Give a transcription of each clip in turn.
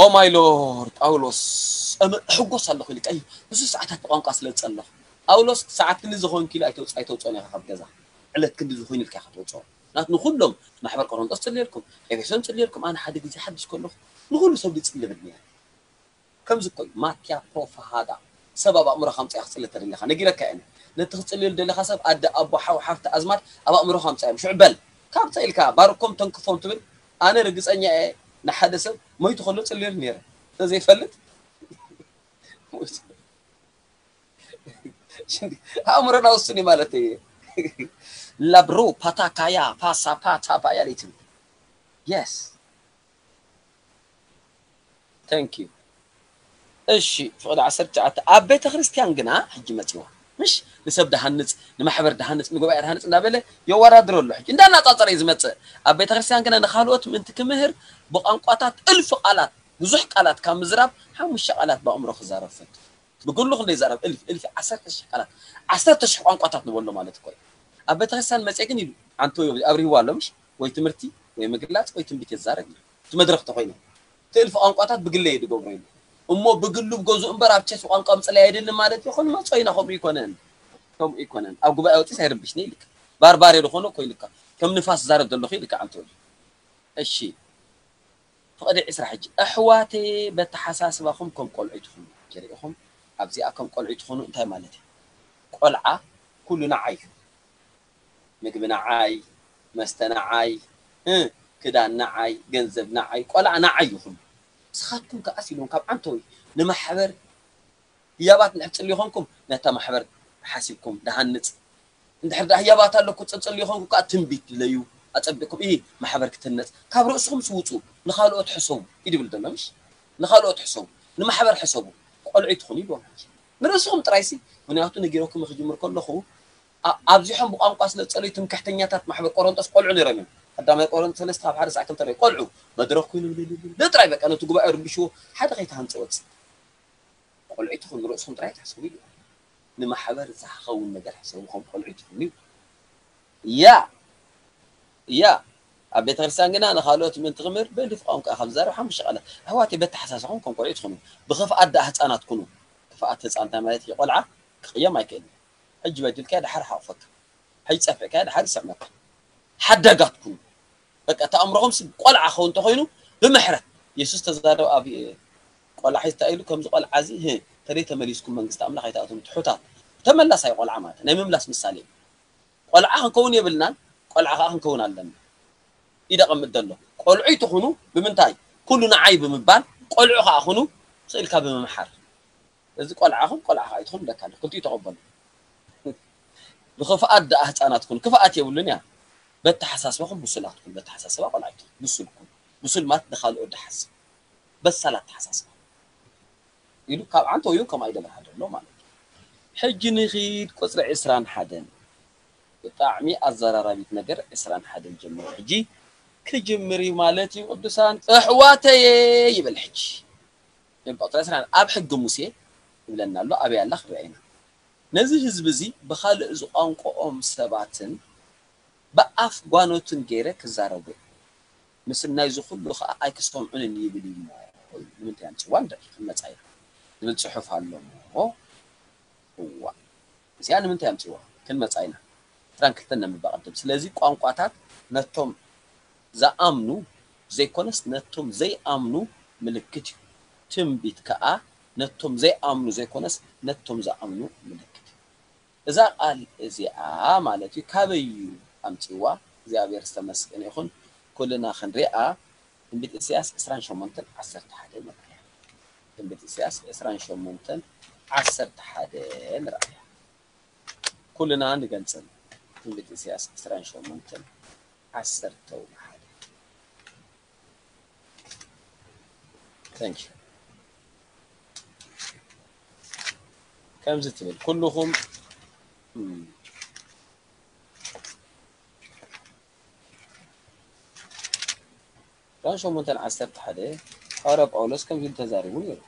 Oh my Lord ጳውሎስ፣ ሕጎስ ኣለኹ ኢሉ ቀይ ብዙ ሰዓታት ብቋንቋ ስለ ዝጸለኹ። ጳውሎስ ሰዓት ክንዲ ዝኾንክ ኢሉ ኣይተውጽ ኣይተውጽኦን ኢኻ ካብ ገዛ። ዕለት ክንዲ ዝኾን ኢልካ ኢኻ ትወጽኦ። ናት ንኹሎም ማሕበር ቆሮንጦስ ጽልየልኩም፣ ኤፌሶን ጽልየልኩም፣ ኣነ ሓደ ግዜ ሓድሽ ከለኹ ንኹሉ ሰብ ዝጽልብል ነይረ። ከምዚ እኮ እዩ ማትያ ፖፋሃዳ። ሰብ ኣብ ኣእምሮኻ ምጻእ ክጽሊ ተደሊኻ ነጊረካ እየ። ነቲ ክጽልየሉ ደሊኻ ሰብ ኣደ ኣቦ ሓው ሓፍቲ ኣዝማድ ኣብ ኣእምሮኻ ምጻእ እዮም። ሽዑ በል ካብዛ ኢልካ ባርኮም ተንክፎም ትብል። ኣነ ርግጸኛ እየ ንሓደ ሰብ ሞይቱ ከሎ ጽልየሉ ነይረ። እንተዘይፈልጥ ኣእምሮና ውሱን እዩ ማለት እዩ። ላብሮ ፓታካያ ፓሳ ፓታ ባያ ሌትም የስ Thank you። እሺ ፍቕዲ ዓሰርተ ትሽዓተ ኣብ ቤተ ክርስቲያን ግና ሕጂ መጺዋ ምሽ ንሰብ ድሃንጽ ንማሕበር ድሃንጽ ንጉባኤ ድሃንጽ እንዳበለ የወዳድሮ ኣሎ። ሕጂ እንዳናጻጸረ እዩ ዝመጽእ። ኣብ ቤተ ክርስቲያን ግና ንኻልኦት ምእንቲ ክምህር ብቋንቋታት እልፊ ቃላት ብዙሕ ቃላት ካብ ምዝራብ ሓሙሽተ ቃላት ብኣእምሮ ክዛረብ ፈቱ። ብግሉ ክንደይ ይዛረብ እልፊ እልፊ ዓሰርተ ሽሕ ቃላት ዓሰርተ ሽሕ ቋንቋታት ንበሎ ማለት እኮ እዩ። ኣብ ቤተ ክርስቲያን መጽየ ግን ኢሉ ኣንቶዮ ኣብሪህዋ ኣሎ ምሽ ወይ ትምህርቲ ወይ ምግላጽ ወይ ትንቢት የዛረብ እዩ። እቲ መድረኽ ተኮይነ እቲ እልፊ ቋንቋታት ብግለ እየ ዝገብሮ ኢሉ እሞ ብግሉ ብገዝኡ እምበር ኣብ ቸስ ቋንቋ ምፅላይ ኣይደልን ማለት እዩ። ክንመፅኦ ኢና ከምኡ ይኮነን ከምኡ ይኮነን ኣብ ጉባኤ ወፂስ ኣይርብሽኒ ኢልካ ባርባሬ ዝኾነ እኮ ኢልካ ከም ንፋስ ዛረብ ዘለኹ ኢልካ ኣንቶኒ እሺ ፍቕዲ ዕስራ ሕጂ ኣሕዋተየ በተሓሳስባኹም ከም ቆልዑ ትኹኑ ጀሪእኹም ኣብዚኣ ከም ቆልዑ ትኹኑ እንታይ ማለት እዩ ቆልዓ ኩሉ ንዓይ እዩ ምግቢ ንዓይ፣ መስተ ንዓይ፣ እ፣ ክዳን ንዓይ፣ ገንዘብ ንዓይ፣ ቆልዓ ንዓይ እዩ ኩሉ። ንስኻትኩም ከኣስ ኢልዎም ካብ ዓንተወይ ንማሕበር ህያባት እንድሕር ትጽልዩ ኾንኩም ነታ ማሕበር ሓሲብኩም ድሃንጽ እንድሕር ደኣ ህያባት ኣለኩ ትጽልዩ ኾንኩም ከኣ ትንቢት ድለዩ ኣጸቢቕኩም እሂ ማሕበር ክትህነጽ ካብ ርእስኹም ስውጹ ንኻልኦት ሕሰቡ እዩ ድብል ዘሎ ምሽ ንኻልኦት ሕሰቡ ንማሕበር ሕሰቡ ቆልዑ ትኹኑ ኢልዎም ንርእስኹም ጥራይሲ ምክንያቱ ነጊረኩም ክጅምር ከለኹ ኣብዚሖም ብቋንቋ ስለ ዝጸለዩ ትምክሕተኛታት ማሕበር ቆሮንጦስ ቆልዑ ነይሮም እዮም። ቀዳማይ ቆሮንጦስ ሰለስተ ካብ ሓደ ሳዕ ክልተ ርእ ቆልዑ መድረኽ ኮይኑ ልልልል ጥራይ በቃ ነቲ ጉባኤ ርብሽዎ ሓደ ከይትሃንጸ ወጽእ። ቆልዑ ትኹኑ ርእስኹም ጥራይ ትሕስቡ ኢሉ ንማሕበር ዝኸውን ነገር ሕሰቡ ከም ቆልዑ ትኹኑ እዩ። ያ ያ ኣብ ቤተ ክርስቲያን ግና ንኻልኦት ምእንቲ ክምህር ብእልፍ ቋንቋ ካብ ዝዛረብ ሓሙሽተ ቃላት ኣሕዋተይ በተሓሳስባኹም ከም ቆልዑ ትኹኑ ብኽፍኣት ደኣ ህፃናት ኩኑ ክፍኣት ህፃን እንታይ ማለት እዩ ቆልዓ ክቕየም ኣይክእልን ሕጂ በዲልካዮ ደሓር ሓቑፈካ፣ ሕጂ ጸፊዕካዮ ደሓር ይስዕመካ። ሓዳጋት ኩኑ። በቃ እቲ ኣእምሮኹም ሲ ቆልዓ ክኸውን እንተኾይኑ ብምሕረት የሱስ ተዛረበ ኣብ ቆልዓ ሒዝታ ኢሉ ከምዚ ቆልዓ እዚ ህ ተደይ ተመሊስኩም መንግስቲ ኣምላኽ ኣይትኣትዉን ትሑታት ተመላሳይ ቆልዓ ማለት ናይ ምምላስ ምሳሌ እዩ። ቆልዓ ክንከውን የብልናን ቆልዓ ከዓ ክንከውን ኣለና። ኢደ ቀምጥ ዘሎ ቆልዑ ይትኹኑ ብምንታይ ኩሉ ንዓይ ብምባል ቆልዑ ከዓ ኩኑ ስኢልካ ብምምሓር እዚ ቆልዓ ኹን ቆልዓ ኸዓ ኣይትኹን ብለካ ኣለኹ ክልቲኡ ተቐበሉ ብኽፍኣት ደኣ ህፃናት ኩን ክፍኣት የብሉን እያ በተሓሳስባኹም ብሱላት ኩን በተሓሳስባ ቆልዓ ኣይትኹን ብሱል ኩን ብሱል ማለት ንኻልኦ ድሓስብ በሳል ኣተሓሳስባ ኢሉ ካብ ዓንተወዩ ከም ኣይደበርሃ ዘሎ ማለት እዩ ሕጂ ንኺድ ቁፅሪ ዕስራን ሓደን ብጣዕሚ ኣዘራራቢት ነገር ዕስራን ሓደን ጀምሮ ሕጂ ክጅምር እዩ ማለት እዩ ቅዱሳን ኣሕዋተየ ይብል ሕጂ ቁፅሪ ዕስራን ኣብ ሕጊ ሙሴ ይብለና ኣሎ ኣበይ ኣላ ክንሪኣ ኢና ነዚ ህዝቢ እዚ ብኻልእ ዝቋንቋኦም ሰባትን ብኣፍ ጓኖትን ገይረ ክዛረቡ ምስናይ ዝኹሉ ኸዓ ኣይክሰምዑንን ይብል እዩ እሞ ንምንታይ ኣምፅዋ ንርኢ ክንመፃ ኢና ዝብል ፅሑፍ ኣሎ እሞ እዋ እዚኣ ንምንታይ ኣምፅዋ ክንመፃ ኢና ዕስራን ክልተን ነንብባ ቅድም ስለዚ ቋንቋታት ነቶም ዝኣምኑ ዘይኮነስ ነቶም ዘይኣምኑ ምልክት እዩ ትንቢት ከዓ ነቶም ዘይኣምኑ ዘይኮነስ ነቶም ዝኣምኑ ምልክት እዩ እዛ ቃል እዚኣ ማለት እዩ ካበይ እዩ ኣምፂዋ እግዚኣብሔር ዝተመስገነ ይኹን ኩልና ክንሪኣ ትንቢት ኢሳያስ ዕስራን ሸሞንተን ዓሰርተ ሓደ ንርኣያ ትንቢት ኢሳያስ ዕስራን ሸሞንተን ዓሰርተ ሓደ ንርኣያ ኩልና ንገልፅን ትንቢት ኢሳያስ ዕስራን ሸሞንተን ዓሰርተ ሓደ Thank you. ከምዚ ትብል ኩልኹም ራን ሸሞንተን ዓሰርተ ሓደ ሓዋርያ ጳውሎስ ከምዚ ኢሉ ተዛሪቡ ነይሩ።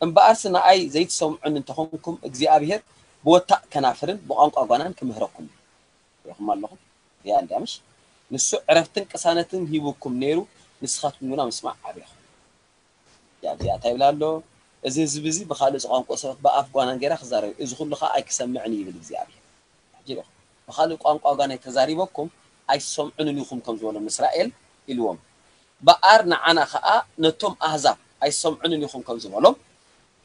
እምበኣርሲ ንኣይ ዘይትሰምዑኒ እንተኾንኩም እግዚኣብሔር ብወታእ ከናፍርን ብቋንቋ ጓናን ክምህረኩም እዩ። ሪኹም ኣለኹም? ያ እንድያ ምሽ? ንሱ ዕረፍትን ቅሳነትን ሂቡኩም ነይሩ፣ ንስኻትኩም ግና ምስማዕ ኣብያኹም። እዚኣ እንታይ ይብል ኣሎ? እዚ ህዝቢ እዚ ብኻልእ ቋንቋ ሰባት ብኣፍ ጓና ገይራ ክዛረብ፣ እዚ ኩሉ ኸዓ ኣይክሰምዕን እዩ ይብል እግዚኣብሔር። ሕጂ ርኢኹም፣ ብኻልእ ቋንቋ ጓና ተዛሪበኩም ኣይሰምዑንን ኢኹም ከም ዝበሎም ንእስራኤል ኢልዎም። በኣር ንዓና ኸዓ ነቶም ኣህዛብ ኣይሰምዑንን ኢኹም ከም ዝበሎም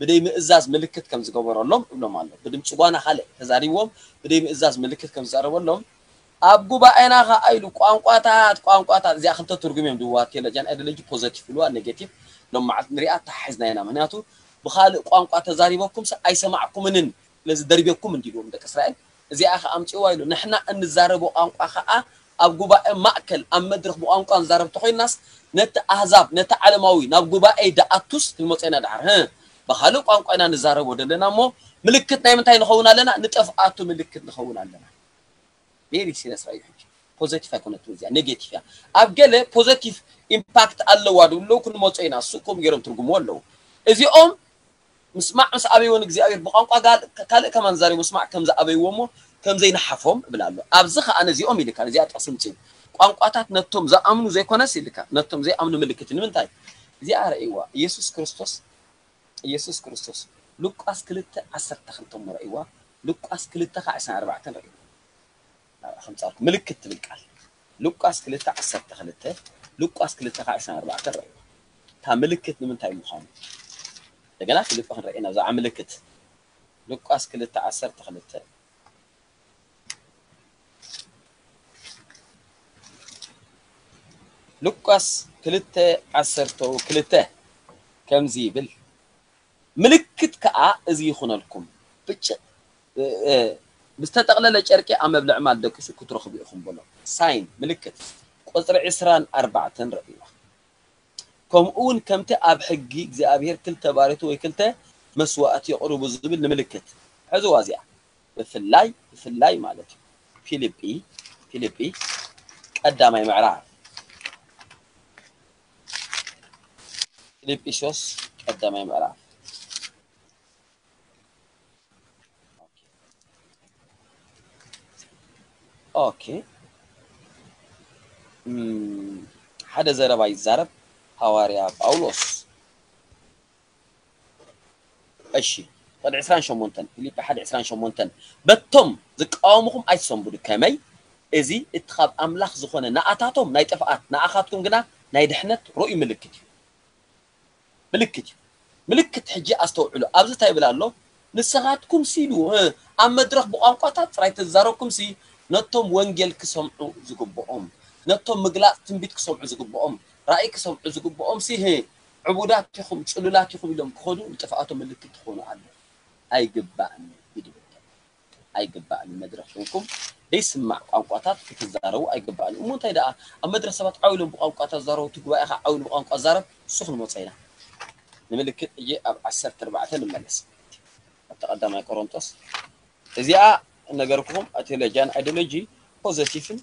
ብደይ ምእዛዝ ምልክት ከም ዝገበረሎም እብሎም ኣሎ። ብድምፂ ጓና ካልእ ተዛሪብዎም ብደይ ምእዛዝ ምልክት ከም ዝዛረበሎም ኣብ ጉባኤና ኸዓ ኢሉ ቋንቋታት ቋንቋታት እዚኣ ክልተ ትርጉም እዮም ድዋ ቴሎጂያን ኣይዲዮሎጂ ፖዘቲቭ ኢልዋ ኔጌቲቭ ሎም መዓልቲ ንሪኣ ተሓሒዝና ኢና። ምክንያቱ ብኻልእ ቋንቋ ተዛሪበኩም ሰ ኣይሰማዕኩምንን ስለዚ ደርቤኩም እንዲልዎም ደቂ እስራኤል እዚኣ ኸዓ ኣምፅእዋ ኢሉ። ንሕና እንዛረቦ ቋንቋ ኸዓ ኣብ ጉባኤ ማእከል ኣብ መድረኽ ብቋንቋ ንዛረብ ተኾይናስ ነቲ ኣህዛብ ነቲ ዓለማዊ ናብ ጉባኤ ደኣቱስ ክንመፅኦ ኢና ደሓር ህ ብኻልእ ቋንቋ ኢና ንዛረቦ ዘለና እሞ ምልክት ናይ ምንታይ ንኸውን ኣለና? ንጥፍኣቱ ምልክት ንኸውን ኣለና። ቬሪ ሲሪየስ ራዩ ሕጂ ፖዘቲቭ ኣይኮነትን እዚኣ ኔጌቲቭ እያ። ኣብ ገለ ፖዘቲቭ ኢምፓክት ኣለዋ ድብለው ክንመፁ ኢና እሱ ከምኡ ገይሮም ትርጉምዎ ኣለዉ። እዚኦም ምስማዕ ምስ ኣበይዎ ንእግዚኣብሔር ብቋንቋ ካልእ ከማን ዛሪቦ ምስማዕ ከም ዝኣበይዎ እሞ ከም ዘይንሓፎም እብል ኣሎ። ኣብዚ ከዓ ነዚኦም ኢልካ ነዚኣ ጥቕሲ ምፅኡ ቋንቋታት ነቶም ዝኣምኑ ዘይኮነስ ኢልካ ነቶም ዘይኣምኑ ምልክት ንምንታይ? እዚኣ ረእይዋ ኢየሱስ ክርስቶስ ኢየሱስ ክርስቶስ ሉቃስ ክልተ ዓሰርተ ክልተ እሞ ረእይዋ ሉቃስ ክልተ ከዓ ዕስራን ኣርባዕተን ረእይዋ ናብኣ ከምፃልኩ ምልክት ትብል ቃል ሉቃስ ክልተ ዓሰርተ ክልተ ሉቃስ ክልተ ከዓ ዕስራን ኣርባዕተን ረእይዋ እታ ምልክት ንምንታይ ምዃኑ እንደገና ክልተ ክንረእይ ናብዛ ምልክት ሉቃስ ክልተ ዓሰርተ ክልተ ሉቃስ ክልተ ዓሰርተ ክልተ ከምዚ ይብል ምልክት ከዓ እዚ ይኹነልኩም ብጭ ብዝተጠቕለለ ጨርቂ ኣብ መብልዕ ማል ደቂሱ ክትረኽቡ ኢኹም በሎ ሳይን ምልክት ቁፅሪ ዕስራን ኣርባዕተን ረእይዋ ከምኡ እውን ከምቲ ኣብ ሕጊ እግዚኣብሔር ክልተ ባርዮቱ ወይ ክልተ መስዋእቲ የቕርቡ ዝብል ንምልክት ሕዝዋ እዚኣ ብፍላይ ብፍላይ ማለት እዩ ፊልጲ ፊልጲ ቀዳማይ ምዕራፍ ፊልጵስዮስ ቀዳማይ ምዕራፍ ኦኬ ሓደ ዘረባ ይዛረብ ሃዋርያ ጳውሎስ እሺ ቁፅሪ ዕስራን ሸሞንተን ፊልጲ ሓደ ዕስራን ሸሞንተን በቶም ዝቃወሙኹም ኣይትሰንብዱ ከመይ እዚ እቲ ካብ ኣምላኽ ዝኾነ ንኣታቶም ናይ ጥፍኣት ንኣኻትኩም ግና ናይ ድሕነት ርኡይ ምልክት እዩ ምልክት እዩ ምልክት ሕጂ ኣስተውዕሉ ኣብዚ እንታይ ይብል ኣሎ ንስኻትኩም ሲሉ ኣብ መድረኽ ብቋንቋታት ጥራይ ተዛረብኩም ሲ ነቶም ወንጌል ክሰምዑ ዝግብኦም ነቶም ምግላፅ ትንቢት ክሰምዑ ዝግብኦም ራእይ ክሰምዑ ዝግብኦም ሲ ዕቡዳት ኢኹም ፅሉላት ኢኹም ኢሎም ክኸዱ ንጥፍኣቶም ምልክት ትኾኑ ኣሎ ኣይግባእን እዩ ድብል ኣይግባእን መድረኽ ኮንኩም ደይስማዕ ቋንቋታት ክትዛረቡ ኣይግባእን እሞ እንታይ ደኣ ኣብ መድረኽ ሰባት ዓው ኢሎም ብቋንቋ ተዛረቡ እቲ ጉባኤ ከዓ ዓው ኢሉ ብቋንቋ ዛረብ እሱ ክንመፀ ኢና ንምልክት እየ ኣብ ዓሰርተ ኣርባዕተ ንመለስ ኣብቲ ቀዳማይ ቆሮንጦስ እዚኣ ነገርኩም ቴሎጂያን ኣይዲዮሎጂ ፖዘቲቭን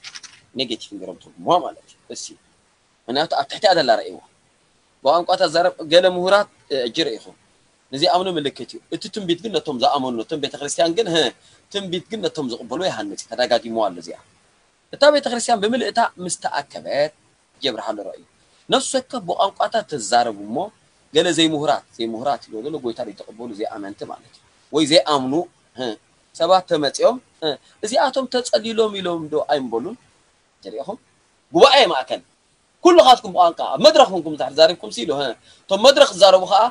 ኔጌቲቭን ገይሮም ትርጉምዋ ማለት እዩ እሲ ምክንያቱ ኣብ ትሕቲኣ ዘላ ረእይዎ ብቋንቋ ተዛረብ ገለ ምሁራት እጂ ርኢኹም ንዘይኣምኑ ምልክት እዩ እቲ ትንቢት ግን ነቶም ዝኣመኑ ነቶም ቤተክርስትያን ግን ትንቢት ግን ነቶም ዝቕበሉ ይሃንፅ ተደጋጊምዋ ኣሎ እዚኣ እታ ቤተክርስትያን ብምልእታ ምስ ተኣከበት ጀብርሃሉ ረእዩ ነፍሲ ወከፍ ብቋንቋታት ተዛረቡ እሞ ገለ ዘይምሁራት ዘይምሁራት ይብሎ ዘሎ ጎይታ ዘይተቐበሉ ዘይኣመንቲ ማለት እዩ ወይ ዘይኣምኑ ሰባት ተመፂኦም እዚኣቶም ተፀሊሎም ኢሎም ዶ ኣይምበሉን ሪኢኹም ጉባኤ ማእከል ኩልኻትኩም ብቋንቋ ኣብ መድረኽ ኮንኩም ድሕር ዛሪብኩም ኢሉ እቶም መድረኽ ዝዛረቡ ከዓ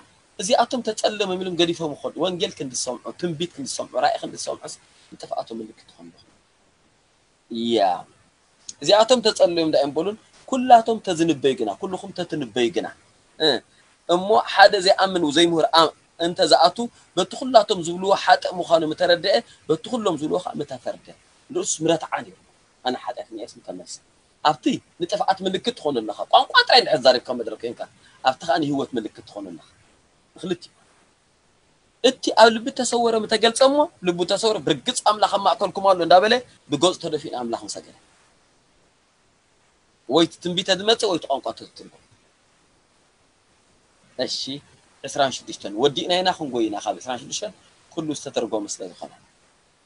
እዚኣቶም ተፀሊሎም ኢሎም ገዲፎም ይኸዱ ወንጌል ክንድሰምዑ ትንቢት ክንድሰምዑ ራእይ ክንድሰምዑስ ንጥፍኣቶም ምልክት ትኾኑ ያ እዚኣቶም ተፀሊዮም ዳ እዮም በሉን ኩላቶም ተዝንበዩ ግና ኩልኹም ተትንበዩ ግና እሞ ሓደ ዘይኣምን ዘይምሁር እንተ ዝኣቱ በቲ ኩላቶም ዝብልዎ ሓጥእ ምዃኑ ምተረድአ በቲ ኩሎም ዝብልዎ ከዓ ምተፈርደ ንእሱስ ምረትዓ ነይሩ ኣነ ሓጢኣተኛ እየስ ምተመልሰ ኣብቲ ንጥፍኣት ምልክት ትኾኑ ኣለኻ ቋንቋ ጥራይ እንድሕር ዛሪብካ መድረክ ኮይንካ ኣብቲ ከዓ ንህይወት ምልክት ትኾኑ ኣለኻ ንክልቲኡ እቲ ኣብ ልቢ ተሰወረ ምተገልጸ እሞ ልቡ ተሰወረ ብርግጽ ኣምላኽ ኣብ ማእከልኩም ኣሎ እንዳበለ ብገጹ ተደፊኡ ንኣምላኽ ምሰገደ ወይ ትንቢተ ዝመጽእ ወይ ቋንቋ ተትርጉም እሺ ዕስራን ሽዱሽተን ወዲእና ኢና ክንጎይ ኢና ካብ ዕስራን ሽዱሽተን ኩሉ ዝተተርጎመ ስለ ዝኾነ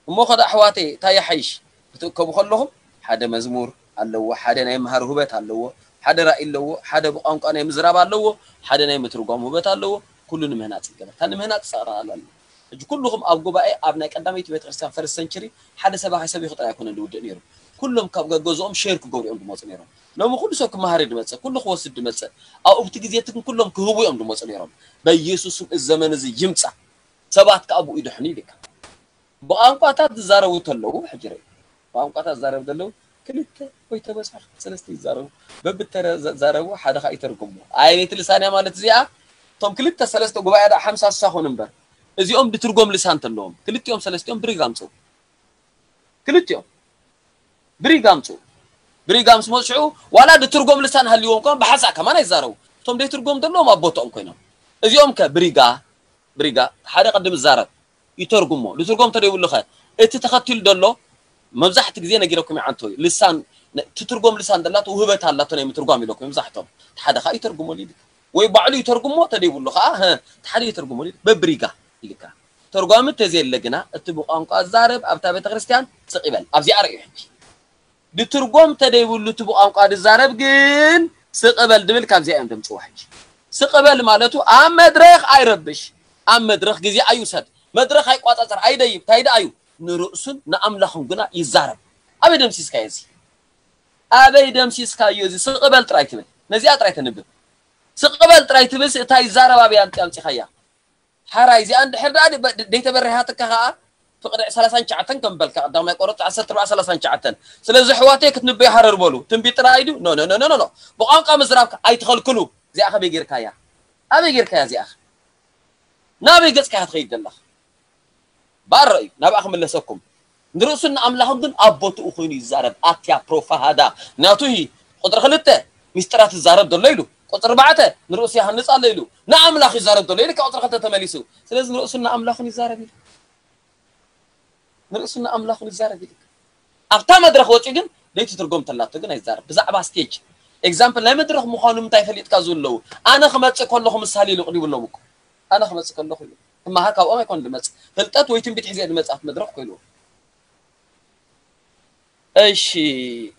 እሞ ኸዳ ኣሕዋተይ እንታይ ይሓይሽ ክትእከቡ ከለኹም ሓደ መዝሙር ኣለዎ ሓደ ናይ መሃር ውህበት ኣለዎ ሓደ ራእይ ኣለዎ፣ ሓደ ብቋንቋ ናይ ምዝራብ ኣለዎ፣ ሓደ ናይ ምትርጓም ውበት ኣለዎ። ኩሉ ንምህናፅ ይገበር። እታ ንምህናፅ ፀቕራላ ኣሎ። ሕጂ ኩልኹም ኣብ ጉባኤ ኣብ ናይ ቀዳመይቲ ቤተክርስትያን ፈርስት ሰንቸሪ ሓደ ሰባኺ ሰብ ይኽጥር ኣይኮነን ዝውድእ ነይሩ። ኩሎም ካብ ገገዝኦም ሼር ክገብሩ እዮም ዝመፁ ነይሮም። ሎሚ ኩሉ ሰብ ክመሃር እዩ ዝመፅእ፣ ኩሉ ክወስድ ዝመፅእ። ኣብኡ ብቲ ግዜ እቲ ግን ኩሎም ክህቡ እዮም ዝመፁ ነይሮም። በኢየሱስም እዚ ዘመን እዚ ይምፃ። ሰባት ከዓ ብኡ ይድሕኑ ኢልካ። ብቋንቋታት ዝዛረቡ ተለዉ ሕጂ ርኢ። ብቋንቋታት ዝዛረቡ ዘለዉ ክልተ ወይ ተበዝሑ ሰለስተ ይዛረቡ። በብተረ ዘ- ዛረቡ ሓደ ከዓ ይተርጉሙ። ኣየነይቲ ልሳን እያ ማለት እዚኣ? እቶም ክልተ ሰለስተ ጉባኤ ዳ ሓምሳ ስሳ ኮኑ እምበር እዚኦም ድትርጎም ልሳን ተለዎም ክልቲኦም ሰለስቲኦም ብሪግ ኣምፅኡ። ክልቲኦም ብሪግ ኣምፅኡ። ብሪጋ ምስ መፅዑ ዋላ ድትርጎም ልሳን ሃልይዎም ከ ብሓንሳእ ከማን ኣይዛረቡ። እቶም ደይትርጎም ዘለዎም ኣብ ቦትኦም ኮይኖም እዚኦም ከ ብሪጋ ብሪጋ ሓደ ቅድም ዝዛረብ ይተርጉሞ። ዝትርጎም ተደይብሉ ከ እቲ ተኸቲሉ ዘሎ መብዛሕቲ ግዜ ነጊረኩም ይዓንተው እዩ። ልሳን ትትርጎም ልሳን ደላቶ ውህበት ኣላቶ ናይ ምትርጓም ኢለኩም መብዛሕቶም ሓደ ከዓ ይተርጉሞ ሊድ ወይ ባዕሉ ይተርጉሞ ተደይብሉ ከዓ ሀ፣ እቲ ሓደ ይተርጉሞ ሊድ በብሪጋ ኢልካ ተርጓሚ ተዘየለ ግና እቲ ብቋንቋ ዛረብ ኣብታ ቤተክርስትያን ስቕ ይበል። ኣብዚኣ ርእዩ ሕጂ ድትርጎም ተደይብሉ እቲ ብቋንቋ ድዛረብ ግን ስቕበል ድብል ካብዚኣ እዮም ደምፅዋ ሕጂ ስቕበል ማለቱ ኣብ መድረኽ ኣይረብሽ ኣብ መድረኽ ግዜ ኣይውሰድ መድረኽ ኣይቋፃፀር ኣይደይብ እንታይ ደኣ እዩ ንርእሱን ንኣምላኹን ግና ይዛረብ ኣበይ ደምሲስካዮ እዚ ኣበይ ደምሲስካዮ እዚ ስቕበል ጥራይ ትብል ነዚኣ ጥራይ ተንብብ ስቕበል ጥራይ ትብል እታ ይዛረብ ኣበይ ኣምፂ ኣምፂኻያ ሓራይ እዚኣ እንድሕር ደኣ ደይተበሪሃትካ ከዓ ፍቕዲ ሰላሳን ትሽዓተን ከም በልካ ቀዳማይ ቆሮንቶስ ዓሰርተ ኣርባዕተ ሰላሳን ትሽዓተን ስለዚ ኣሕዋተይ ክትንበዩ ሃረር በሉ ትንቢት ጥራይ ድዩ ኖ ኖ ኖ ኖ ኖ ብቋንቋ ምዝራብካ ኣይትኸልክሉ እዚኣ ከበይ ጌርካያ ኣበይ ጌርካያ እዚኣ ናበይ ገጽካ እያ ትኸይድ ዘለኻ ባሮ እዩ ናብኣ ክምለሰኩም ንርእሱን ንኣምላኹን ግን ኣብ ቦትኡ ኮይኑ ይዛረብ ኣትያ ፕሮፋሃዳ ናቱ ቁፅሪ ክልተ ሚስጥራት ይዛረብ ዘሎ ኢሉ ቁፅሪ ኣርባዕተ ንርእሱ ይሃንፅ ኣሎ ኢሉ ንኣምላኽ ይዛረብ ዘሎ ኢሉ ካብ ቁፅሪ ክልተ ተመሊሱ ስለዚ ንርእሱን ንኣምላኹን ይዛረብ ኢሉ ንርእሱን ንኣምላኹን ይዛረብ ኢሉ ኣብታ መድረኽ ወፂኡ ግን ደይቲ ትርጎም ተላቶ ግን ኣይዛረብ ብዛዕባ ስቴጅ ኤግዛምፕል ናይ መድረኽ ምዃኑ ምንታይ ፈሊጥካ ዝብለዉ ኣነ ክመፅእ ከለኹ ምሳሌ ኢሉ ቅዲቡ ኣለዉ እኮ ኣነ ክመፅእ ከለኹ ኢሉ ክመሃር ካብኦም ኣይኮን ዝመፅእ ፍልጠት ወይ ትንቢት ሒዘ ዝመፅእ ኣብቲ መድረኽ እኮ ኢልዎ እሺ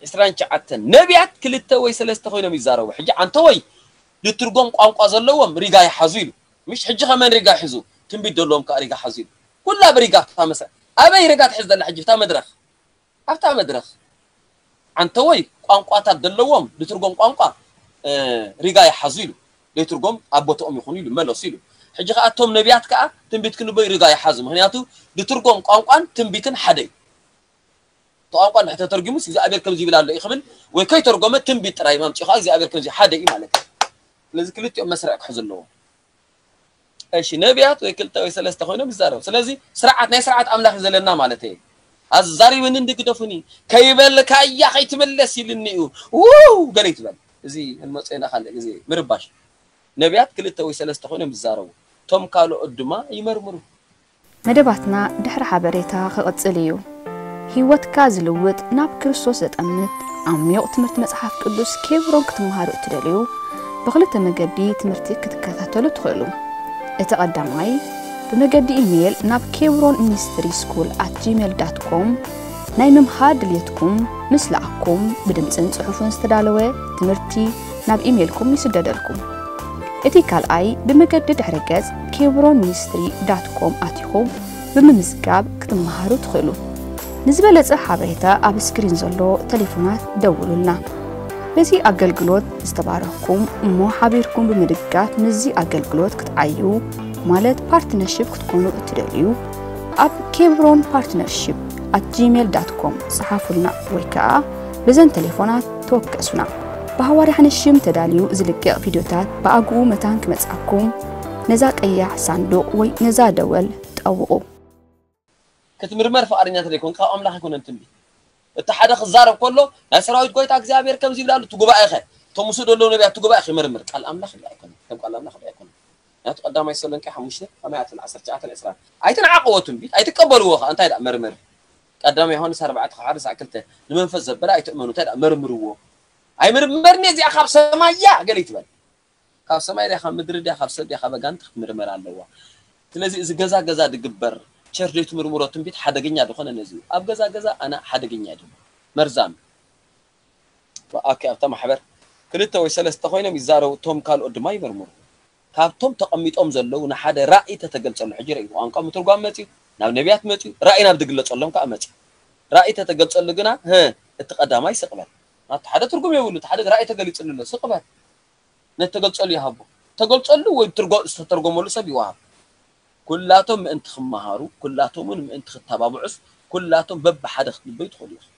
ዕስራን ትሽዓተን ነቢያት ክልተ ወይ ሰለስተ ኮይኖም ይዛረቡ ሕጂ ኣንተ ወይ ዝትርጎም ቋንቋ ዘለዎም ሪጋ ይሓዙ ኢሉ ምሽ ሕጂ ከመን ሪጋ ይሕዙ ትንቢት ዘለዎም ከዓ ሪጋ ሓዙ ኢሉ ኩላ ብሪጋ ኣብታ መስርዕ ኣበይ ሪጋ ትሕዝ ዘላ ሕጂ ኣብታ መድረኽ ኣብታ መድረኽ ኣንተ ወይ ቋንቋታት ዘለዎም ዝትርጎም ቋንቋ ሪጋ ይሓዙ ኢሉ ዘይትርጎም ኣብ ቦትኦም ይኹኑ ኢሉ መለሱ ኢሉ ሕጂ ከዓ እቶም ነቢያት ከዓ ትንቢት ክንበዩ ሪጋ ይሓዙ ምክንያቱ ዝትርጎም ቋንቋን ትንቢትን ሓደ እዩ እቲ ቋንቋ እንድሕር ተተርጊሙስ እግዚኣብሔር ከምዚ ይብል ኣሎ እዩ ክብል ወይ ከይተርጎመ ትንቢት ጥራይ ማምፂኡ ከዓ እግዚኣብሔር ከምዚ ሓደ እዩ ማለት እዩ ስለዚ ክልቲኦም መስርዕ ክሕዙ ኣለዎም እሺ ነቢያት ወይ ክልተ ወይ ሰለስተ ኮይኖም ይዛረቡ ስለዚ ስርዓት ናይ ስርዓት ኣምላኽ እዩ ዘለና ማለት እዩ ኣዛሪብኒ እንዲ ግደፉኒ ከይበልካያ ከይትምለስ ኢልኒ እዩ ውው ገለ ይትበል እዚ እንመፅኦ ኢና ካልእ ግዜ ምርባሽ ነቢያት ክልተ ወይ ሰለስተ ኮይኖም ይዛረቡ እቶም ካልኦት ድማ ይመርምሩ መደባትና ድሕሪ ሓበሬታ ክቕጽል እዩ። ህይወትካ ዝልውጥ ናብ ክርስቶስ ዘጠምት ዓሚቕ ትምህርቲ መጽሓፍ ቅዱስ ኬብሮን ክትመሃሩ እትደልዩ ብኽልተ መገዲ ትምህርቲ ክትከታተሉ ትኽእሉ። እቲ ቀዳማይ ብመገዲ ኢሜይል ናብ ኬብሮን ሚኒስትሪ ስኩል ኣት ጂሜል ዳት ኮም ናይ ምምሃር ድልየትኩም ምስ ለኣኽኩም ብድምጽን ጽሑፍን ዝተዳለወ ትምህርቲ ናብ ኢሜይልኩም ይስደደልኩም። እቲ ካልኣይ ብመገዲ ድሕረ ገጽ ኬብሮን ሚኒስትሪ ዳት ኮም ኣቲኹም ብምምዝጋብ ክትመሃሩ ትኽእሉ። ንዝበለጸ ሓበሬታ ኣብ ስክሪን ዘሎ ተሌፎናት ደውሉልና። በዚ ኣገልግሎት ዝተባረኽኩም እሞ ሓቢርኩም ብምድጋፍ ምስዚ ኣገልግሎት ክትዓዩ ማለት ፓርትነርሺፕ ክትኮኑ እትደልዩ ኣብ ኬብሮን ፓርትነርሺፕ ኣት ጂሜል ዳት ኮም ጸሓፉልና ወይ ከኣ በዘን ተሌፎናት ተወከሱና። ብሃዋርያ ሓንሽም ተዳልዩ ዝልቀቕ ቪድዮታት ብኣግኡ መታን ክመጽኣኩም ነዛ ቀያሕ ሳንዱቕ ወይ ነዛ ደወል ጠውቑ። ክትምርመር ፍቓደኛ ተደይኮንካ ካብ ኣምላኽ ኣይኮነን ትንቢት። እቲ ሓደ ክዛረብ ከሎ ናይ ሰራዊት ጎይታ እግዚኣብሔር ከምዚ ይብል ኣሎ እቲ ጉባኤኸ እቶም ምስኡ ዘለዉ ነቢያት እቲ ጉባኤ ይመርምር ቃል ኣምላኽ ኣይኮነን ከም ቃል ኣምላኽ ኣይኮነን። ምክንያቱ ቀዳማይ ተሰሎንቄ ሓሙሽተ ከማይ ኣትን ዓሰርተ ትሽዓተን ዕስራን ኣይትንዓቕዎ ትንቢት ኣይትቀበልዎ ከኣ እንታይ ደኣ መርምር ቀዳማይ ዮሃንስ ኣርባዕተ ካብ ሓደ ክሳዕ ክልተ ንመንፈስ ዘበለ ኣይትእመኑ እንታይ ደኣ መርምርዎ ኣይምርመርኒ እዚኣ ካብ ሰማይ እያ ገለ ይትበል ካብ ሰማይ ድያ ካብ ምድሪ ድያ ካብ ሰብ ድያ ካብ ኣጋንንቲ ክትምርመር ኣለዋ ስለዚ እዚ ገዛ ገዛ ድግበር ቸርች ዘይትምርምሮ ትንቢት ሓደገኛ ዝኾነ ነዚ ኣብ ገዛ ገዛ ኣነ ሓደገኛ እዩ መርዛም ኦኬ ኣብታ ማሕበር ክልተ ወይ ሰለስተ ኮይኖም ይዛረቡ፣ እቶም ካልኦት ድማ ይመርምሩ። ካብቶም ተቐሚጦም ዘለዉ ንሓደ ራእይ ተተገልጸሉ፣ ሕጂ ርእዩ፣ ቋንቋ ምትርጓም መጽዩ፣ ናብ ነቢያት መጽዩ፣ ራእይ ናብ ዝግለጸሎም ከኣ መጽዩ። ራእይ ተተገልጸሉ ግና፣ ህ፣ እቲ ቀዳማይ ስቕበል። ናቱ ሓደ ትርጉም የብሉ፣ እቲ ሓደ ራእይ ተገሊጽሉ ኣሎ፣ ስቕበል። ነቲ ተገልጸሉ ይሃቦ። ተገልጸሉ ወይ ትርጎ-፣ ዝተተርጎመሉ ሰብ ይወሃብ። ኩላቶም ምእንቲ ክመሃሩ፣ ኩላቶም እውን ምእንቲ ክተባብዑስ፣ ኩላቶም በብሓደ ክትንበዩ ትኽእሉ ኢኹም።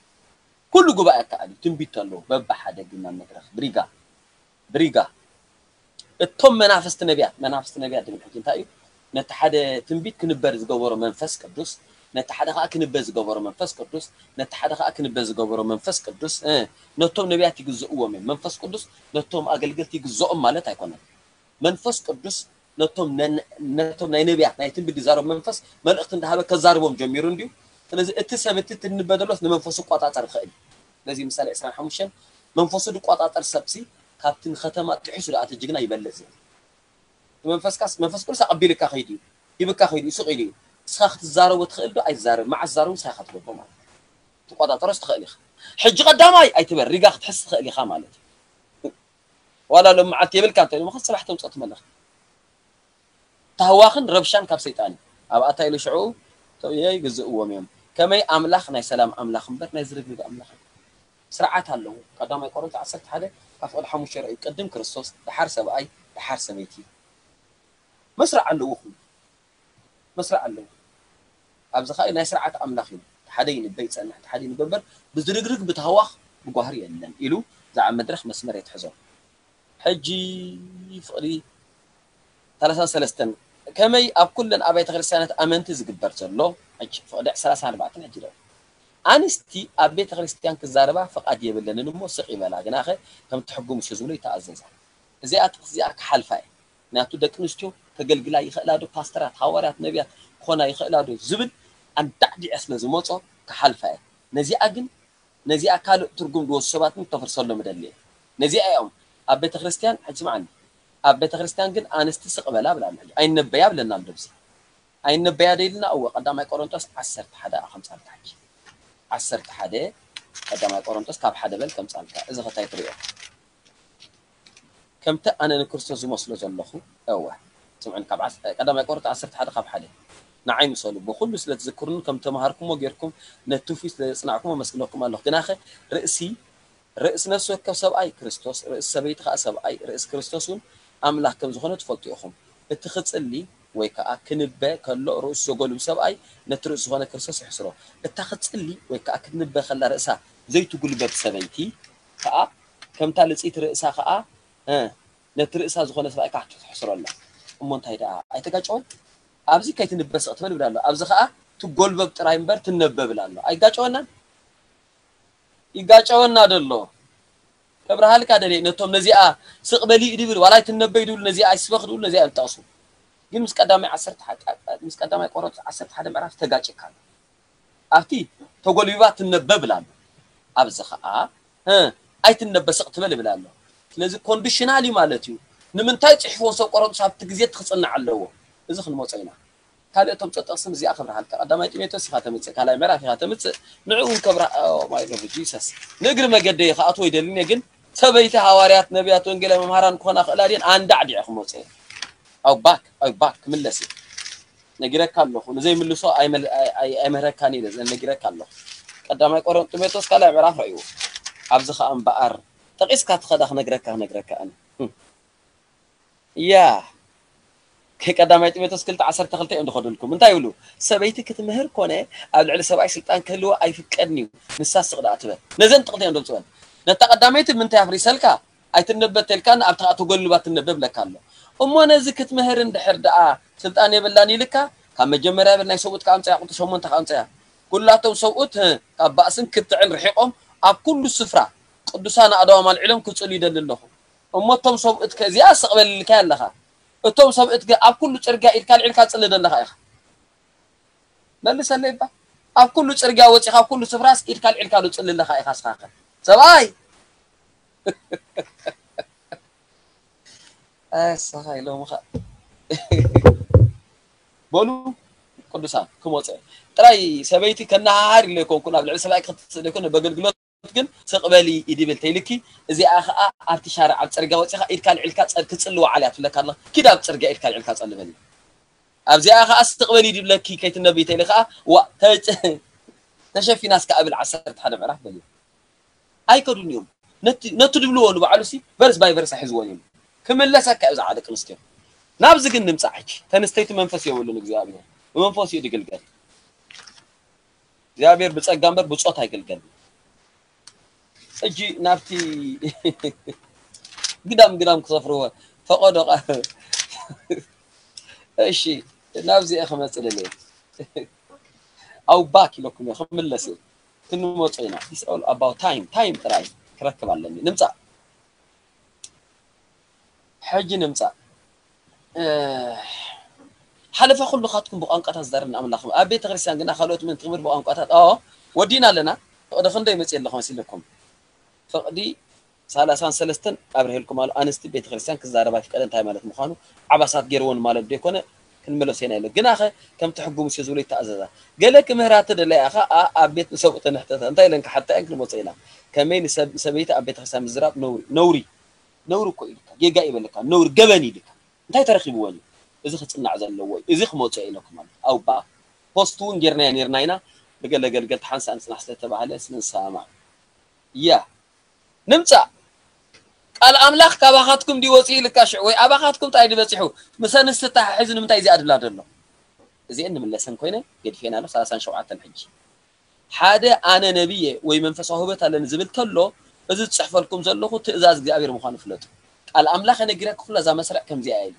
ኩሉ ጉባኤ ኣከኣል እዩ፣ ትንቢት ኣለዎ፣ በብሓደ ግን ናብ መድረኽ ብሪጋ፣ ብሪጋ። እቶም መናፍስቲ ነቢያት፣ መናፍስቲ ነቢያት ድብል ሕጂ እንታይ እዩ? ነቲ ሓደ ትንቢት ክንበር ዝገበሮ መንፈስ ቅዱስ፣ ነቲ ሓደ ከኣ ክንበ ዝገበሮ መንፈስ ቅዱስ፣ ነቲ ሓደ ከኣ ክንበ ዝገበሮ መንፈስ ቅዱስ፣ እ፣ ነቶም ነቢያት ይግዝእዎም እዮም። መንፈስ ቅዱስ ነቶም ኣገልገልቲ ይግዝኦም ማለት ኣይኮነን። መንፈስ ቅዱስ ነቶም ነን-፣ ነቶም ናይ ነቢያት፣ ናይ ትንቢት ዝዛረቡ መንፈስ መልእኽቲ እንዳሃበ ከዛርቦም ጀሚሩ እንድዩ። ስለዚ እቲ ሰብ እቲ ትንበ ዘሎስ ንመንፈሱ ይቆጻጸር ይኽእል እዩ። ስለዚ ምሳሌ ዕስራን ሓሙሽተን መንፈሱ ዝቆጻጸር ሰብሲ ካብቲ ንከተማ ጥሒሱ ዝኣተ ጅግና ይበልጽ እዩ። እቲ መንፈስካስ፣ መንፈስ ቅዱስ ኣቐቢልካ ከይዱ እዩ፣ ሂብካ ከይዱ እዩ፣ ስቕ ኢሉ እዩ። ንስኻ ክትዛረቦ ትኽእል ዶ? ኣይትዛረብ። መዓስ ዛረቡ ንስኻ ኢኻ ትገብሮ ማለት እዩ። ትቆጻጸሮስ ትኽእል ኢኻ። ሕጂ ቀዳማይ ኣይትበል፣ ሪጋ ክትሕዝ ትኽእል ኢኻ ማለት እዩ። ዋላ ሎም መዓልቲ የብልካ እንተ ኢሎምኻ፣ ጽባሕ ተምጽኦ ትመለኻ። ታህዋኽን ረብሻን ካብ ሰይጣን እዩ። ኣብ ኣታ ኢሉ ሽዑ ተውየ ይግዝእዎም እዮም። ከመይ ኣምላኽ ናይ ሰላም ኣምላኽ እምበር ናይ ዝርግርግ ኣምላኽ እዩ። ስርዓት ኣለዎ። ቀዳማይ ቆሮንቶስ ዓሰርተ ሓደ ካብ ፍቕዲ ሓሙሽተ ርእዩ። ቅድም ክርስቶስ፣ ደሓር ሰብኣይ፣ ደሓር ሰበይቲ። መስርዕ ኣለዎ ኩሉ። መስርዕ ኣለዎ። ኣብዚ ኸኣ ናይ ስርዓት ኣምላኽ እዩ። እቲ ሓደ ይንበ ይጸንሕ፣ እቲ ሓደ ይንበ እምበር ብዝርግርግ፣ ብታህዋኽ፣ ብጓህሪ የለን ኢሉ እዛ ኣብ መድረኽ መስመር የትሕዞ። ሕጂ ፍቕዲ ሰላሳን ሰለስተን ከመይ ኣብ ኩለን ኣብያተ ክርስቲያናት ኣመንቲ ዝግበር ዘሎ፣ ሕጂ ፍቕዲ ሰላሳን ኣርባዕተን ሕጂ ደው። ኣንስቲ ኣብ ቤተ ክርስቲያን ክዛረባ ፍቓድ የብለንን እሞ ስቕ ይበላ፣ ግናኸ ከም ትሕጉም እሺ ዝብሎ ይተኣዘዛ። እዚኣ ጥቕሲ እዚኣ ክሓልፋ እየ። ምክንያቱ ደቂ ኣንስትዮ ከገልግላ ይኽእላ ዶ? ፓስተራት፣ ሃዋርያት፣ ነቢያት ክኾና ይኽእላ ዶ? ዝብል ኣንዳዕዲዐ ስለ ዝመጾ ክሓልፋ እየ። ነዚኣ ግን፣ ነዚኣ ካልእ ትርጉም ዝወስዱ ሰባት ግን ክተፍርሰሎም እደሊ እየ። ነዚኣ እዮም ኣብ ቤተ ክርስቲያን፣ ሕጂ ስምዓኒ፣ ኣብ ቤተ ክርስቲያን ግን ኣንስቲ ስቕ በላ ብላ ኣሎ። ሕጂ ኣይነበያ ብለና ኣሎ ኣብዚ። ኣይነበያ ዶ ኢልና? እወ፣ ቀዳማይ ቆሮንቶስ ዓሰርተ ሓደ ከምጻልካ ሕጂ። ዓሰርተ ሓደ፣ ቀዳማይ ቆሮንቶስ ካብ ሓደ በል ከምጻልካ። እዚ ኸታይ ትርእዮ። ከምቲ ኣነ ንክርስቶስ ዝመስሎ ዘለኹ፣ እወ። ስምዑኒ፣ ካብ ዓስ-፣ ቀዳማይ ቆሮንቶስ ዓሰርተ ሓደ ካብ ሓደ። ንዓይ ምሰሉ፣ ብኹሉ ስለ ትዝክሩኒ፣ ከም ተማሃርኩሞ ጌርኩም፣ ነቲ ትውፊት ስለ ዘጽናዕኩሞ፣ ኣመስግነኩም ኣለኹ። ግናኸ ርእሲ፣ ርእሲ ነፍሲ ወከፍ ሰብኣይ ክርስቶስ፣ ርእሲ ሰበይቲ ኸኣ ሰብኣይ፣ ርእሲ ክርስቶስ እውን ኣምላኽ ከም ዝኾነ ትፈልጡ ኢኹም። እቲ ክጽሊ ወይ ከኣ ክንበ ከሎ ርእሱ ዘጎልብ ሰብኣይ፣ ነቲ ርእሲ ዝኾነ ክርስቶስ ይሕስሮ። እታ ክጽሊ ወይ ከኣ ክትንበ ከላ ርእሳ ዘይትጉልበት ሰበይቲ ከኣ፣ ከምታ ልጽይቲ ርእሳ ከኣ፣ እ፣ ነቲ ርእሳ ዝኾነ ሰብኣይ ከኣ ትሕስሮ ኣላ። እሞ እንታይ ደኣ ኣይተጋጨወን? ኣብዚ ከይትንበ ስቕ ትበል ይብል ኣሎ። ኣብዚ ከኣ ትጎልበብ ጥራይ እምበር ትነበ ይብል ኣሎ። ኣይጋጨወናን? ይጋጨወና ደሎ። ከብርሃልካ ደልየ፣ ነቶም ነዚኣ ስቕ በሊ ድብል፣ ዋላ ኣይትነበይ ድብል፣ ነዚኣ ኣይስበኽ ድብል፣ ነዚኣ እዮም ዝጠቕሱ። ግን ምስ ቀዳማይ ዓሰርተ ሓደ፣ ምስ ቀዳማይ ቆሮንቶስ ዓሰርተ ሓደ ምዕራፍ ተጋጭካ ኣሎ። ኣብቲ ተጎልቢባ ትነበ ይብል ኣሎ። ኣብዚ ኸኣ፣ እ፣ ኣይትነበ ስቕ ትበል ይብል ኣሎ። ስለዚ ኮንዲሽናል እዩ ማለት እዩ። ንምንታይ ጽሒፍዎ ሰብ ቆሮንቶስ ኣብቲ ግዜ እቲ ክጽናዕ ኣለዎ? እዚ ክንመጾ ኢና። ካልእ እቶም ጥቕስን እዚኣ ክብርሃልካ። ቀዳማይ ጢሞቴዎስ ኢኻ ተምጽእ፣ ካልኣይ ምዕራፍ ኢኻ ተምጽእ። ንዕኡ እውን ከብርሃ-፣ ኦ ማይ ሎርድ ጂሰስ። ንእግሪ መገደይ ክኣትዎ ይደልን እየ፣ ግን ሰበይቲ ሃዋርያት፣ ነቢያት፣ ወንጌላዊ መምሃራን ክኾና ክእላ ድየን? ኣንዳዕዲዐ ክመጽእ እየ። ኣው ባክ፣ ኣው ባክ፣ ክምለስ እየ። ነጊረካ ኣለኹ። ንዘይምልሶ ኣይመል-፣ ኣይ-፣ ኣይ-፣ ኣይምህረካን ኢለ ነጊረካ ኣለኹ። ቀዳማይ ቆሮን-፣ ጢሞቴዎስ ካልኣይ ምዕራፍ ረእይዎ። ኣብዚ ኸኣ እምበኣር ጠቒስካ ትኸዳ ክነግረካ፣ ክነግረካ ኣነ። ህም። ያ። ከ-፣ ቀዳማይ ጢሞቴዎስ ክልተ ዓሰርተ ክልተ እዮም ዝኸዱልኩም። እንታይ ይብሉ? ሰበይቲ ክትምህር ኮነ ኣብ ልዕሊ ሰብኣይ ስልጣን ክህልዎ ኣይፍቀድን እዩ። ንሳ ስቕ ደኣ ትበል። ነዘን ጥቕቲ እዮም ዘምጽወን። ነታ ቀዳመይቲ ምንታይ ኣፍሪሰልካ? ኣይትነበ ተልካን ኣብቲ ኸኣ ተጎልባ ትነበ ብለካ ኣሎ። እሞ ነዚ ክትምህር እንድሕር ደኣ ስልጣን የብላን ኢልካ፣ ካብ መጀመርያ ብል ናይ ሰብኡት ከኣምጽያ፣ ቁጽሪ ሸሞንተ ከኣምጽያ። ኩላቶም ሰብኡት፣ እ፣ ካብ ባእስን ክትዕን ርሒቖም ኣብ ኩሉ ስፍራ ቅዱሳን ኣእዳዎም ኣልዒሎም ክጽሉ ይደሊ ኣለኹ። እሞ እቶም ሰብኡት ከ እዚኣ ስቕ በል ኢልካያ ኣለኻ። እቶም ሰብኡት ከ ኣብ ኩሉ ጽርግያ ኢድካ ኣልዒልካ ትጽሊ ዘለኻ ኢኻ። መልሰለይ እባ። ኣብ ኩሉ ጽርግያ ወጺኻ ኣብ ኩሉ ስፍራስ ኢድካ ኣልዒልካ ዶ ትጽሊ ኣለኻ ኢኻ እስኻ ከ? ሰብኣይ! ኣይ፣ እስኻ ኢሎምኻ። በሉ ቅዱሳን ክመጽእ። ጥራይ ሰበይቲ ከነሃሃር ኢለ ኣይኮንኩን፣ ኣብ ልዕሊ ሰብኣይ ክትስእል ኣይኮነ፣ በገልግሎት ግን ስቕ በሊ ይድብል ተይልኪ፣ እዚኣ ኸኣ ኣብቲ ሻርዕ ኣብ ጽርግያ ወጺኻ ኢድካ ኣልዒልካ ጸ-፣ ክጽሊ ወዓል እያ ትብለካ ኣለኻ። ኪድ ኣብ ጽርግያ ኢድካ ኣልዒልካ ጸሊ በሊ። ኣብዚኣ ኸኣ ስቕ በሊ ይድብለኪ ከይትነብይ ተይሊ ኸኣ ዋ ተጨ-፣ ተሸፊና እስከ ኣብል ዓሰርተ ሓደ ምዕራፍ በሊ። ኣይከዱን እዮም። ነቲ፣ ነቲ ድብልዎ ንባዕሉ ሲ ቨርስ ባይ ቨርስ ኣሕዝዎን እዮም። ክምለሰካ እዩ ዝዓ ደቂ ኣንስትዮ። ናብዚ ግን ንምጻእ ሕጂ። ተንስተይቲ መንፈስ የብሉን እግዚኣብሔር። ብመንፈስ እዩ ድግልገል። እግዚኣብሔር ብጸጋ እምበር ብጾት ኣይግልገልን። ሕጂ ናብቲ ግዳም ግዳም ክሰፍርዎ ፈቐዶ ቃ-፣ እሺ፣ ናብዚ እየ ክመጽእ ደልየ። ኣው ባክ ኢለኩም እየ ክምለስ እየ። ክንመጾ ኢና። It's all about time። ታይም ጥራይ ክረክብ ኣለኒ። ንምጻእ። ሕጂ ንምጻእ። እ፣ ሓለፈ ኩሉ ካትኩም ብቋንቋታት ዝዛረብ ንኣምላኽ። ኣብ ቤተ ክርስቲያን ግና ካልኦት ምን ትምህር ብቋንቋታት። ኦ፣ ወዲና ኣለና። ፍቕዲ ክንደይ መጽእ ኣለኹ መሲልኩም። ፍቕዲ ሰላሳን ሰለስተን ኣብርሄልኩም ኣሎ። ኣንስቲ ቤተ ክርስቲያን ክዛረባ ይፍቀደ እንታይ ማለት ምዃኑ ዓባሳት ገይርዎን ማለት ዶ ይኮነ? ክንመለሶ ኢና ኢለ። ግናኸ ከምቲ ሕጊ ሙሴ ዝብሎ ይተኣዘዛ። ገለ ክምህራ ተደለያ ኸኣ ኣብ ቤት ንሰብኡ ተንሕተተ። እንታይ ኢለን ክሓታ እየን ክንመጾ ኢና። ከመይ ንሰብ-፣ ንሰበይቲ ኣብ ቤተ ክርስቲያን ምዝራብ ነውሪ፣ ነውሪ፣ ነውሪ እኮ ኢልካ፣ ጌጋ ይበለካ፣ ነውሪ ገበን ኢልካ። እንታይ ተረኺብወን እዩ? እዚ ክጽናዕ ዘለዎ እዩ። እዚ ክመጾ እየ ኢለኩም ኣሎ። ኣውባ ፖስት እውን ጌርናዮ ኔርና ኢና። ብገለ ገልገልቲ ሓንሳእ ንጽናሕ ስለ ተባህለ ስለ ንሰማማዕ። እያ። ንምጻእ። ቃል ኣምላኽ ካባኻትኩም ድዩ ወጺኡ ኢልካ ሽዑ፣ ወይ ኣባኻትኩም ጥራይ ድዩ በጺሑ? ምስ ኣንስቲ ተተሓሒዙ ንምንታይ እዚኣ ድብላ ዘሎ? እዚኤን ንምለሰን ኮይነ ገዲፌን ኣሎ፣ ሰላሳን ሸውዓተን ሕጂ። ሓደ ኣነ ነቢየ ወይ መንፈሳዊ ህይወት ኣለኒ ዝብል ተሎ፣ እዚ ዝጽሕፈልኩም ዘለኹ ትእዛዝ እግዚኣብሔር ምዃኑ ፍለጡ። ቃል ኣምላኽ ነጊረኪ ኩላ እዛ መስርዕ ከምዚኣ እያ ኢሉ።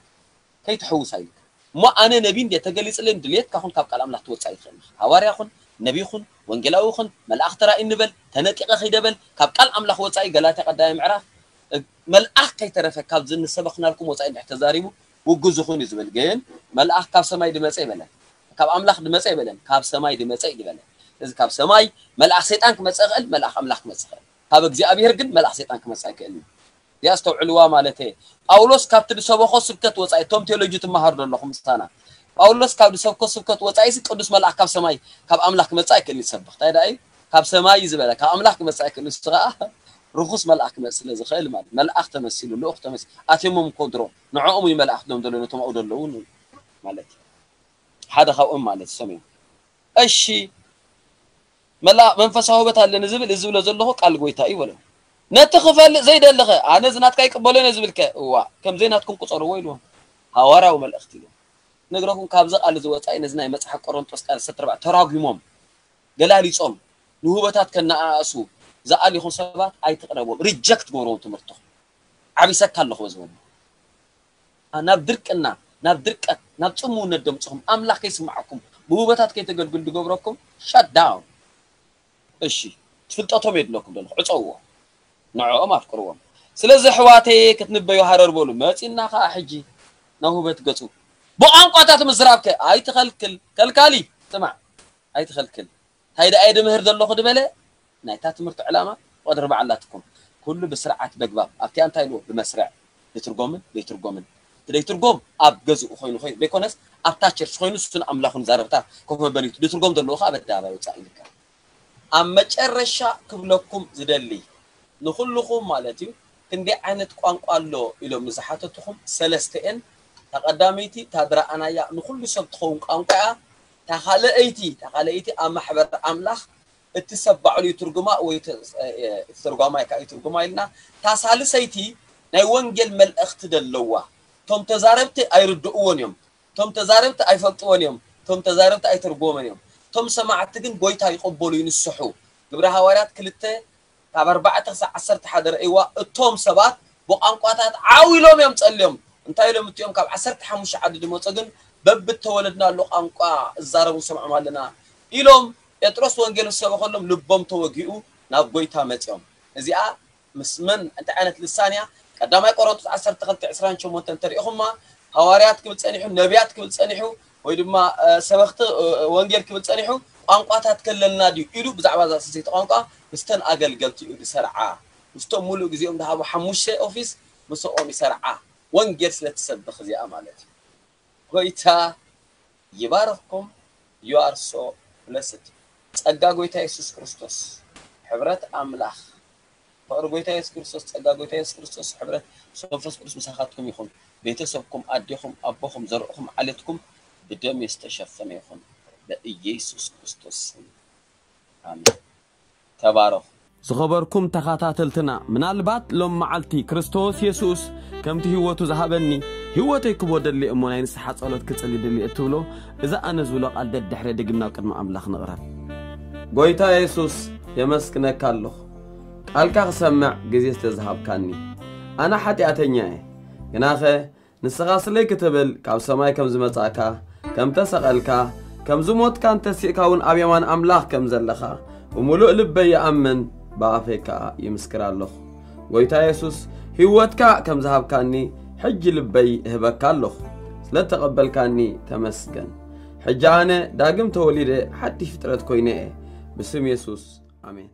ከይትሕውሳ ኢልካ። እሞ ኣነ ነቢ እንድየ ተገሊጽለይ ድልየትካ ኹን ካብ ቃል ኣምላኽ ትወጽእ ኣይትኽእል ኢኻ። ሃዋርያ ኹን፣ ነቢ ኹን፣ ወንጌላዊ ኹን፣ መልኣኽ ተራእይ ንበል፣ ተነጢቐ ኺደ በል፣ ካብ ቃል ኣምላኽ ወጻኢ ገላትያ ቀዳማይ ምዕራፍ፣ እ፣ መልኣኽ ከይተረፈ ካብዚ ንሰበኽናልኩም ወጻኢ እንድሕር ተዛሪቡ ውጉዝ ኹን እዩ ዝብል። ግን መልኣኽ ካብ ሰማይ ድመጸ ይበለን። ካብ ኣምላኽ ድመጸ ይበለን። ካብ ሰማይ ድመጸ እዩ ዝበለን። ስለዚ ካብ ሰማይ መልኣኽ ሰይጣን ክመጽእ ይኽእል፣ መልኣኽ ኣምላኽ ክመጽእ ይኽእል። ካብ እግዚኣብሔር ግን መልኣኽ ሰይጣን ክመጽእ ኣይክእልን እዩ። እዚኣ ኣስተውዕልዋ ማለት እየ። ጳውሎስ ካብቲ ዝሰበኾ ስብከት ወጻኢ፣ እቶም ቴዎሎጂ ትመሃሩ ዘለኹም ምሳና፣ ጳውሎስ ካብ ዝሰብኮ ስብከት ወጻኢስ ቅዱስ መልኣኽ ካብ ሰማይ ካብ ኣምላኽ ክመጽእ ኣይክእልን ይሰብኽ። እንታይ ደኣ እዩ? ካብ ሰማይ እዩ ዝበለ፣ ካብ ኣምላኽ ክመጽእ ኣይክእልን። ንሱ ኸኣ ርኹስ መልኣኽ ክመጽእ ስለ ዝኽእል ማለት፣ መልኣኽ ተመሲሉ፣ ልኡኽ ተመሲሉ፣ ኣትዮሞም እኮ ድሮ ንዕኦም እዩ መልኣኽ ድሎም ዘለዉ፣ ነቶም ኣብኡ ዘለዉ ማለት እዩ። ሓደ ካብኦም ማለት እሶም እዮም። እሺ፣ መላ-፣ መንፈሳዊ ውበት ኣለኒ ዝብል፣ እዚ ዝብሎ ዘለኹ ቃል ጎይታ እዩ በሎ። ነቲ ክፈልጥ ዘይደለኸ፣ ኣነ እዚ ናትካ ይቅበሎን እየ ዝብልከ፣ እዋ፣ ከም ዘይናትኩም ቁጸርዎ ኢልዎም። ሃዋርያዊ መልእኽቲ ኢልዎም። ነግረኩም፣ ካብዚ ቃል እዚ ወጻኢ ነዚ ናይ መጽሓፍ ቆሮንጦስ ቃል ዕስራን ኣርባዕተን ተራጒሞም፣ ገላሊጾም፣ ንውበታት ከነኣእሱ ዝኣልኹም ሰባት ኣይትቕረብዎም። ሪጀክት ግበርዎም ትምህርትኹም። ዓቢሰካ ኣለኹ በዚ ወዲ። ኣ-፣ ናብ ድርቅና፣ ናብ ድርቀት፣ ናብ ጽምውነት ደምጽኹም፣ ኣምላኽ ከይስምዓኩም፣ ብውበታት ከይተገልግሉ ዝገብረኩም፣ ሸት ዳውን። እሺ፣ ፍልጠቶም የድለኩም ዘለኹ፣ ዕጸውዎ። ንዕኦም ኣፍቅርዎም። ስለዚ ኣሕዋተይ ክትንበዩ ሃረር በሉ። መጺና ኸኣ ሕጂ ናብ ውበት ገጹ። ብቋንቋታት ምዝራብከ ኣይትኸልክል። ከልካሊ፣ ስማዕ፣ ኣይትኸልክል። እንታይ ደኣ እየ ድምህር ዘለኹ ድበለ? ናይታ ትምህርቲ ዕላማ ፍቕዲ ርብዓ ኣላትኩም። ኩሉ ብስርዓት በግባብ። ኣብቲኣ እንታይ ኢልዎ? ብመስርዕ። ድትርጎምን ደይትርጎምን። እቲ ደይትርጎም ኣብ ገዝኡ ኮይኑ ኮይኑ ዘይኮነስ ኣብታ ቸርች ኮይኑ እሱን ኣምላኹን ዛረብታ ኮፍ መበሊቱ። ድትርጎም ዘለዎ ኸዓ ኣብ ኣደባባይ ወጻኢ ይልካ። ኣብ መጨረሻ ክብለኩም ዝደሊ ንኹልኹም ማለት እዩ፣ ክንደይ ዓይነት ቋንቋ ኣሎ ኢሎም ንዝሓተትኹም ሰለስተ እየን። እታ ቀዳመይቲ እታ ዝረኣናያ ንኹሉ ሰብ ትኸውን ቋንቋ እያ። እታ ካልኣይቲ፣ እታ ካልኣይቲ ኣብ ማሕበር ኣምላኽ እቲ ሰብ ባዕሉ ይትርጉማ ወይ ተ-፣ እ፣ እቲ ተርጓማይ ከኣ ይትርጉማ ኢልና። እታ ሳልሰይቲ ናይ ወንጌል መልእኽቲ ደለዋ። እቶም ተዛረብቲ ኣይርድእዎን እዮም። እቶም ተዛረብቲ ኣይፈልጥዎን እዮም። እቶም ተዛረብቲ ኣይተርጎመን እዮም። እቶም ሰማዕቲ ግን ጎይታ ይቕበሉ፣ ይንስሑ። ግብረ ሃዋርያት ክልተ ካብ ኣርባዕተ ክሳብ ዓሰርተ ሓደ ረእይዋ። እቶም ሰባት ብቋንቋታት ዓው ኢሎም እዮም ጸልዮም። እንታይ ኢሎም እቲኦም ካብ ዓሰርተ ሓሙሽተ ዓዲ ዝመጹ ግን በብተወለድናሉ ቋንቋ እዛረቡ ንሰምዖም ኣለና ኢሎም። ጴጥሮስ ወንጌል ምስ ሰበኸሎም ልቦም ተወጊኡ ናብ ጎይታ መጺኦም። እዚኣ ምስ መን እንታይ ዓይነት ልሳን እያ? ቀዳማይ ቆሮንቶስ ዓሰርተ ክልተ ዕስራን ሸሞንተን እንተሪኢኹማ፣ ሃዋርያት ክብል ጸኒሑ፣ ነቢያት ክብል ጸኒሑ፣ ወይ ድማ፣ እ፣ ሰበኽቲ፣ እ፣ ወንጌል ክብል ጸኒሑ፣ ቋንቋታት ከለና ድዩ ኢሉ ብዛዕባ እዛ ስልሰይቲ ቋንቋ ምስተን ኣገልገልቲ እዩ ዝሰርዓ። ምስቶም ሙሉእ ግዜኦም ዝሃቡ ሓሙሽተ ኦፊስ ምስኦም ይሰርዓ። ወንጌል ስለ ትሰብኽ እዚኣ ማለት እዩ። ጎይታ ይባርኽኩም። You are so blessed። ጸጋ ጎይታ የሱስ ክርስቶስ ሕብረት ኣምላኽ፣ ፍቕሪ ጎይታ የሱስ ክርስቶስ፣ ጸጋ ጎይታ የሱስ ክርስቶስ፣ ሕብረት መንፈስ ቅዱስ ምሳኻትኩም ይኹን። ቤተሰብኩም፣ ኣዴኹም፣ ኣቦኹም፣ ዘርእኹም፣ ዓሌትኩም ብደም ዝተሸፈነ ይኹን። በኢየሱስ ክርስቶስ ስም ኣሜን። ተባረኹ። ዝኸበርኩም ተኸታተልትና፣ ምናልባት ሎም መዓልቲ ክርስቶስ የሱስ ከምቲ ህይወቱ ዝሃበኒ፣ ህይወተይ ክቦ ደሊ እሞ ናይ ንስሓ ጸሎት ክጽሊ ድሊ እትብሎ፣ እዚ ኣነ ዝብሎ ቃል ደድሕረ ድግም ናብ ቅድሚ ኣምላኽ ንቕረብ። ጎይታ የሱስ፣ የመስግነካ ኣለኹ፣ ቃልካ ክሰምዕ ግዜ ስለ ዝሃብካኒ። ኣነ ሓጢኣተኛ እየ፣ ግናኸ ንስኻ ስለይ ክትብል ካብ ሰማይ ከም ዝመጻእካ፣ ከም ተሰቐልካ፣ ከም ዝሞትካን ተሲእካ እውን ኣብ የማን ኣምላኽ ከም ዘለኻ ብምሉእ ልበይ ይኣምን፣ ብኣፈይ ከኣ ይምስክር ኣለኹ። ጎይታ የሱስ፣ ህይወትካ ከም ዝሃብካኒ ሕጂ ልበይ እህበካ ኣለኹ። ስለ እተቐበልካኒ ተመስገን። ሕጂ ኣነ ዳግም ተወሊደ ሓድሽ ፍጥረት ኮይነ እየ። ብስም የሱስ፣ ኣሜን።